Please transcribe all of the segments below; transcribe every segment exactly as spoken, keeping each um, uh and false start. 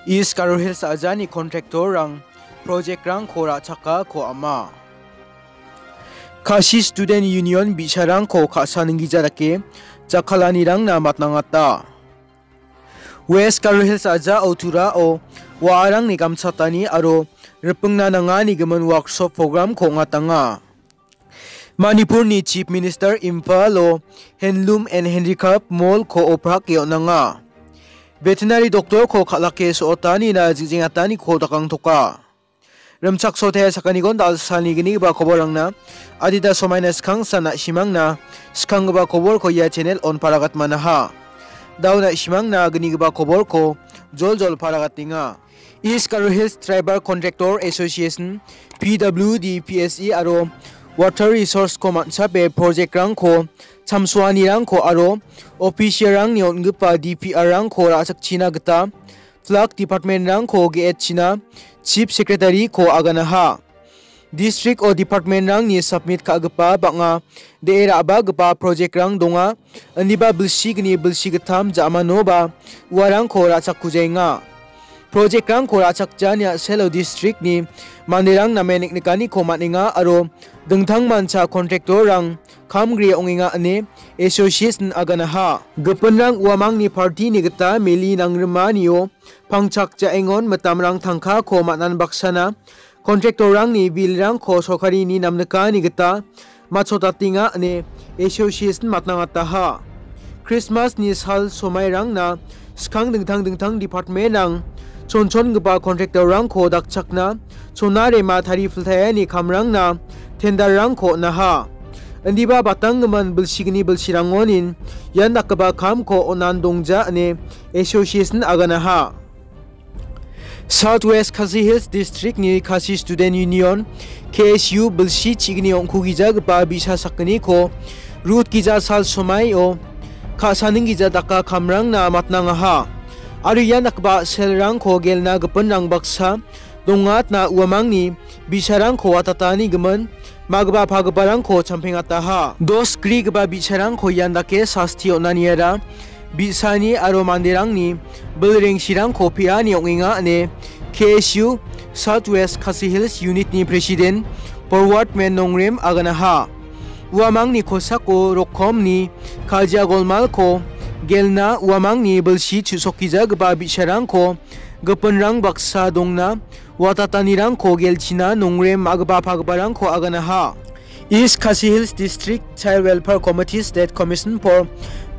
East Garo Hills ajani kontraktorrang projekrangko ra·chakako ama. Khasi Student Union bi·sarangko ka·sa ninggija dake jakkalanirangna matnangata. West Garo Hills ajao Turao wa·arangni gamchatani aro ripingna nangani gimin workshop programko ong·atanga. Manipurni Chief Minister Imphalo Handloom and Handicraft Mall-ko oprake on·anga. Veterinary doctor-ko kal·ake so·otanina jing·jengataniko dakangtoka. Rimchaksote sakgnigon dal·salni gnigipa koborrangna adita somaina skangsa na·simangna skanggipa koborko ia channel-on paragatmanaha. Dao na·simangna gnigipa koborko joljol paragatenga. East Garo Hills Tribal Contractor Association, P W D, P S E aro Water Resource-ko man·chape projekrangko, chamsoanirangko aro official-rangni on·gipa D P R-rangko ra·chakchina gita flag department-rangko ge·etchina Chief Secretary-ko aganaha. District-o department-rangni submit ka·gipa bang·a de·e ra·bagipa project-rang donga, indiba bilsigni bilsi gittam ja·manoba uarangko ra·chakkujaenga. Project-rangko ra·chakjani a·selo district-ni manderang namen niknikaniko man·enga aro dingtangmancha contractor-rang kam gri ong·enga ine association aganaha. Gipinrang uamangni party-ni gita meli nangrimanio pangchak ja·engon mitamrang tangkako man·an baksana contractor-rangni bill-rangko sorkarini namnikani gita matchotatenga ine association matnangataha. Christmas-ni sal somairangna skang dingtang dingtang department-rang chonchongipa contractor-rangko dakchakna chona rema tarifiltaiani kamrangna tender-rangko on·aha. Indiba batanggimin bilsigni bilsirangonin ian dakgipa kamko on·an dongja ine association aganaha. South West Khasi Hills District-ni Khasi Student Union, K S U, bilsi chigni ong·kugijagipa bi·sa sakgniko rut gija sal somaio ka·saning gija daka kamrangna matnangaha. Aro ian dakgipa selrangko gelna gipinrang baksa dongatna uamangni bi·sarangko watatani gimin, magipa pagiparangko champengataha. Dos grigipa bi·sarangko ian dake sasti on·aniara bi·sani aro manderangni bilrengsirangko pe·ani ong·enga ine K S U South West Khasi Hills Unit-ni President Forward Men Nongrem aganaha. Uamangni kosako rokomni kajia golmalko gelna uamangni bilsi chu·sokgijagipa bi·sarangko gipinrang baksa dongna watatanirangko gelchina Nongrem ma·gipa pagiparangko aganaha. East Khasi Hills District Child Welfare Committee State Commission for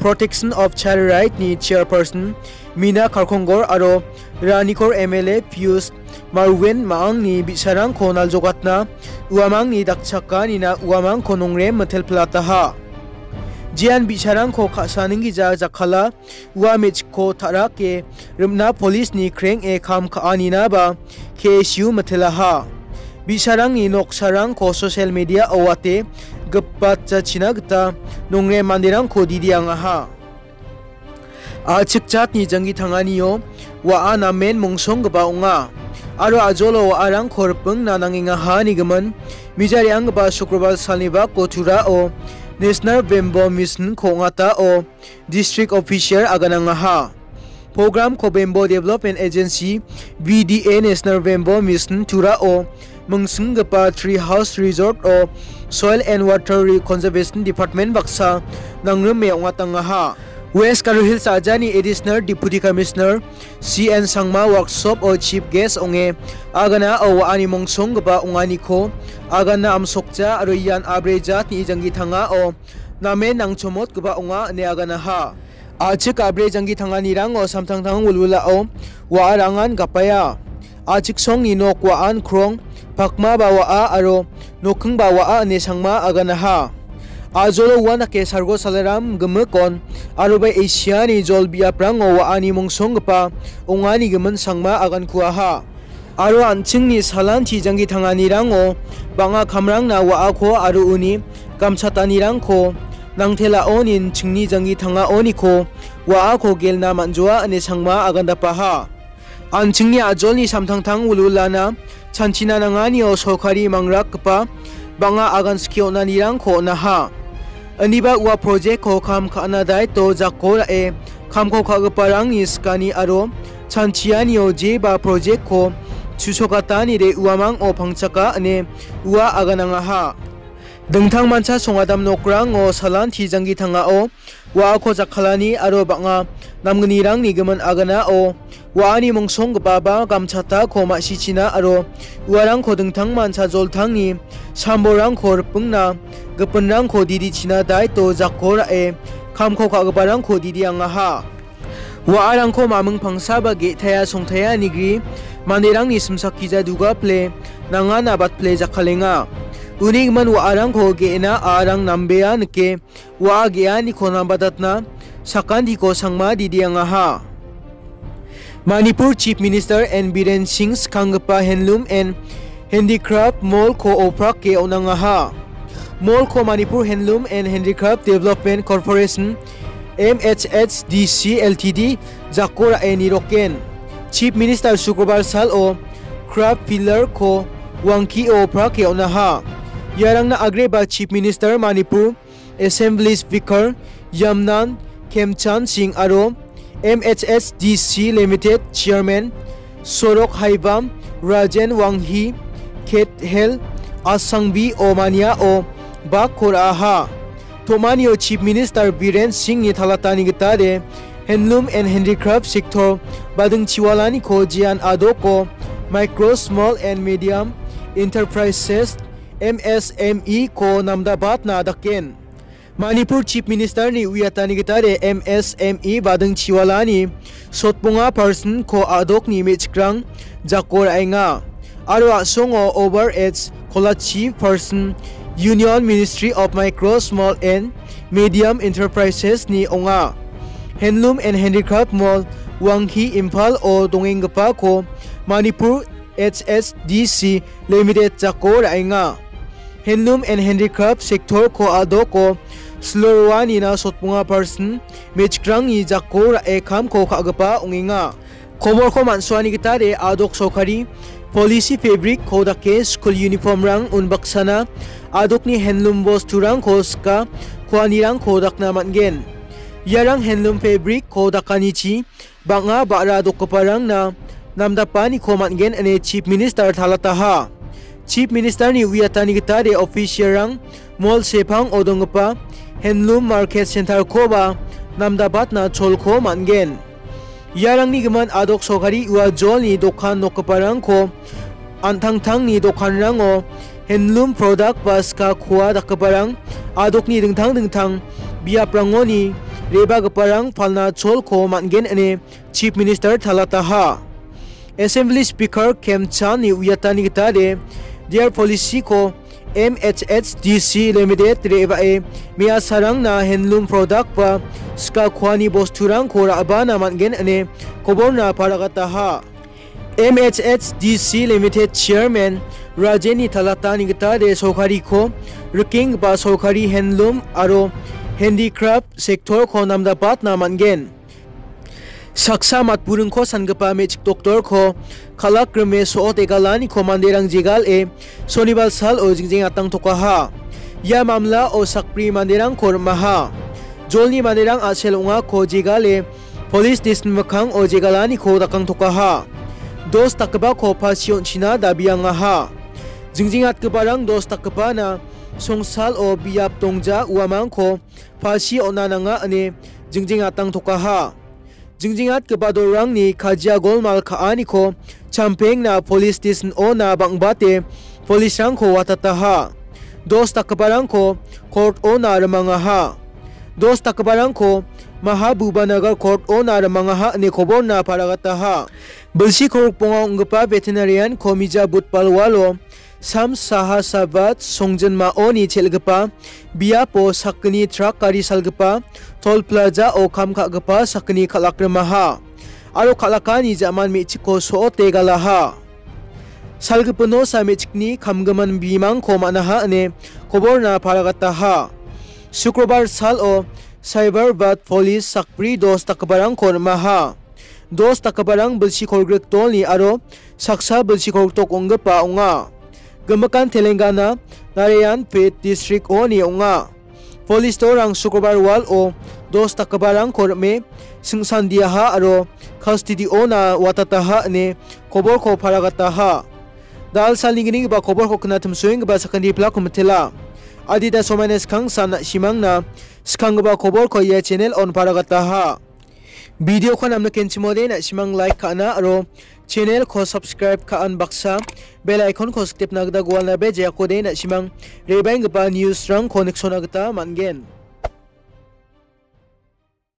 Protection of Child Right-ni Chairperson Mina Karkongor aro Ranikor M L A Pius Marwen ma·angni bi·sarangko naljogatna uamangni dakchakanina uamangko Nongrem mitelpilataha. Jean bi·sarangko ka·saning gija jakkala ua me·chikko ta·rake rimna polisni kreng·e kam ka·aninaba K S U mitelaha. Bi·sarangni noksarangko social media-o wate gipatjachina gita Nongrem manderangko didiangaha. A·chik jatni janggi tanganio wa·a namen mongsonggipa ong·a. Aro ajolo wa·arangko ripingna nangengaha nigimin, mijarianggipa Sukrobar salni bako Turao National Bamboo Mission-ko ong·atao District Official aganangaha. Program-ko Bamboo Development Agency, B D A, National Bamboo Mission Turao mingsinggipa Tree House Resort-o Soil and Water Re-, Conservation Department baksa nangrime ong·atangaha. West Garo Hills ajani Additional Deputy Commissioner C N Sangma workshop-o chief guest ong·e aganao wa·ani mongsonggipa ong·aniko agana amsokja aro ian abre jatni janggi tangao namen nangchomotgipa ong·a ine aganaha. A·chik abre janggi tanganirango samtangtang wilwilao wa·arangan gapaia. A·chik songni nok wa·an krong, pakmaba wa·a aro nokkingba wa·a ine Sangma aganaha. Ajolo uandake Sargo Salaram gimikon aroba Asiani jol biaprango wa·ani mongsonggipa ong·ani gimin Sangma agankuaha. Aro an·chingni salanti janggi tanganirango bang·a kamrangna wa·ako aro uni gamchatanirangko nangtelaonin chingni janggi tangaoniko wa·ako gelna man·joa ine Sangma agandapaha. An·chingni ajolni samtangtang wilwilana chanchina nanganio sorkari mangrakgipa bang·a agan skie on·anirangko on·aha. Aniba ua project-ko kam ka·na daito jako ra·e kamko ka·giparangni sikani aro chanchianio jeba project-ko chusokatanide uamang·o pangchaka ine ua aganangaha. Dingtangmancha songadam nokrango salanti janggi tangao wa·ako jakkalani aro bang·a namgnirangni gimin aganao wa·ani mongsonggipaba gamchatako ma·sichina aro uarangko dingtangmancha joltangni sambolrangko ripingna gipinrangko didichina daito jako ra·e kamko ka·giparangko didiangaha. Wa·arangko maming pangsa ba ge·taia songtaia nigri manderangni simsakija duga pile nangana bat pile jakkalenga. Uni gimin wa·arangko ge·na a·arang nambea nike wa·a ge·aniko nambatatna sakantiko sangma didiangaha. Manipur Chief Minister N Biren Singh skanggipa Handloom and Handicraft Mall-ko oprake on·angaha. Mall-ko Manipur Handloom and Handicraft Development Corporation, M H H D C L T D, jako ra·e niroken. Chief Minister Sukrobar salo craft pillar-ko wangkio oprake on·aha. Iarangna agreba Chief Minister Manipur Assembly Speaker Yamnan Khemchand Singh aro M H H D C Limited Chairman Sorok Haibam, Rajen Wanghi, Kethel Asangbi o maniao bakko ra·aha. Tomanio Chief Minister Biren Singhni talatani gitade Handloom and Handicraft Sector badingchiwalaniko jean adoko Micro, Small and Medium Enterprises, M S M E, ko namdabatna daken. Manipur Chief Minister-ni uiatani gitade M S M E badingchiwalani sotbonga percent-ko a·dokni me·chikrang jako ra·enga. Aro a·songo over age kolachi percent Union Ministry of Micro, Small and Medium Enterprises-ni ong·a. Handloom and Handicraft Mall Wanghi Imphal-o dongenggipako Manipur H S D C Limited jako ra·enga. Handloom and Handicraft Sector-ko a·doko siloroanina sotbonga percent me·chikrangni jako ra·e kamko ka·gipa ong·enga. Koborko man·soani gitade a·dok sorkari policy fabric-ko dake skul uniform-rang unbaksana a·dokni handloom bosturangko sika kuanirangko dakna man·gen. Iarang handloom fabric-ko dakanichi bang·a ba·ra dokgiparangna namdapaniko man·gen ine Chief Minister talataha. Chief Minister-ni uiatani gitade official-rang mol sepango donggipa Handloom Market Center-koba namdabatna cholko man·gen. Iarangni gimin a·dok sorkari ua jolni dokan nokgiparangko an·tangtangni dokanrango handloom product ba ska kua dakgiparang a·dokni dingtang dingtang biaprangoni re·bagiparang palna cholko man·gen ine Chief Minister talataha. Assembly Speaker Khemchand-ni uiatani gitade, their policy-ko M H H D C Limited re·bae me·asarangna handloom product ba ska kuani bosturangko ra·bana man·gen ine koborna paragataha. M H H D C Limited Chairman Rajenni talatani gitade sorkariko rikenggipa sorkari handloom aro handicraft sector-ko namdapatna man·gen. Saksa matburingko sangipa me·chik doktorko kal·akrime so·ote galaniko manderang jegale Sonibar salo jingjeng atangtokaha. Ia mamlao sakbri manderangko rimaha. Jolni manderang a·sel ong·ako jegale police station mikkango jegalaniko dakangtokaha. Dos dakgipako pasi on·china dabiangaha. Jingjeng atgiparang dos dakgipana songsalo biap dongja uamangko pasi on·a nanga ine jingjeng atangtokaha. Jingjeng atgipa dolrangni kajia golmal ka·aniko champengna police station-ona bang·bate police-rangko watataha. Dos dakgiparangko court-ona rimangaha. Dos dakgiparangko Mahabubanagar court-ona rimangaha ine koborna paragataha. Bilsi korokbonga ong·gipa veterinarian-ko mija budbal walo Sam Saha Sabat songjinmaoni chel·gipa biapo sakgni trak gari salgipa tol plaza-o kam ka·gipa sakgni kal·akrimaha aro kal·akani ja·man me·chikko so·ote galaha. Salgipino sa me·chikni kamgimin bimangko man·aha ine koborna paragataha. Sukrobar salo Cyberbat Police sakbri dos dakgiparangko rimaha. Dos dakgiparang bilsi kolgrik dolni aro saksa bilsi kolgrik tok ong·gipa ong·a. Gimikan Telangana, Narayanpet district-oni ong·a. Police-o Rang Sukrobar wal-o dos dakgiparangko rime singsandiaha aro custody-ona watataha ine koborko paragataha. Dal salni gnigipa koborko knatimsoenggipa sakantipilako mitela. Adita somaina skangsan na·simangna skanggipa koborko ia channel-on paragataha. Video-ko namnikenchimode na·simang like ka·na aro channel-ko subscribe ka·an baksa bell icon-ko siktepna gita gualnabe jeakode na·simang rebaenggipa news-rangko niksona gita man·gen.